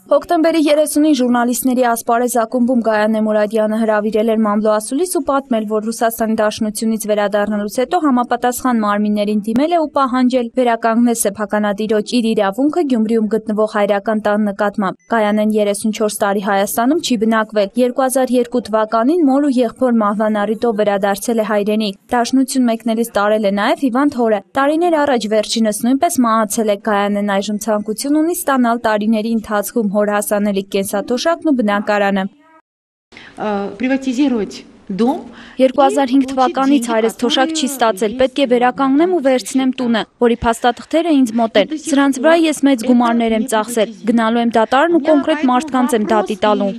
Հոկտեմբերի 30-ին ժուրնալիստների ասպարեզ ակումբում Գայանե Մուրադյանը հրավիրել էր մամլո ասուլիս ու պատմել, որ Ռուսաստանի Դաշնությունից վերադառնալուց հետո համապատասխան մարմիններին դիմել է ու պահանջել վերականգնել սեփականատիրոջ իր իրավունքը Գյումրիում գտնվող հայրական տան նկատմամբ։ Գայանեն 34 տարի Հայաստանում չի բնակվել։ 2002 թվականին մոր ու եղբոր մահվան առիթով վերադարձել է հայրենիք։ Դաշնություն մեկնելիս տարել է նաև հիվանդ հորը։ Տարիներ առաջ վերջինս նույնպես մահացել է։ Գայանեն այժմ ցանկություն ունի ստանալ տարիների ընթացքում հոր հասանելիք կենսաթոշակն ու բնակարանը։ 2005 թվականից հայրս թոշակ չի ստացել, պետք է վերականգնեմ ու վերցնեմ տունը, որի փաստաթղթերը ինձ մոտ են։ Սրանց վրա ես մեծ գումարներ եմ ծախսել, գնալու եմ դատարան ու կոնկրետ մարդկանց եմ դատի տալու։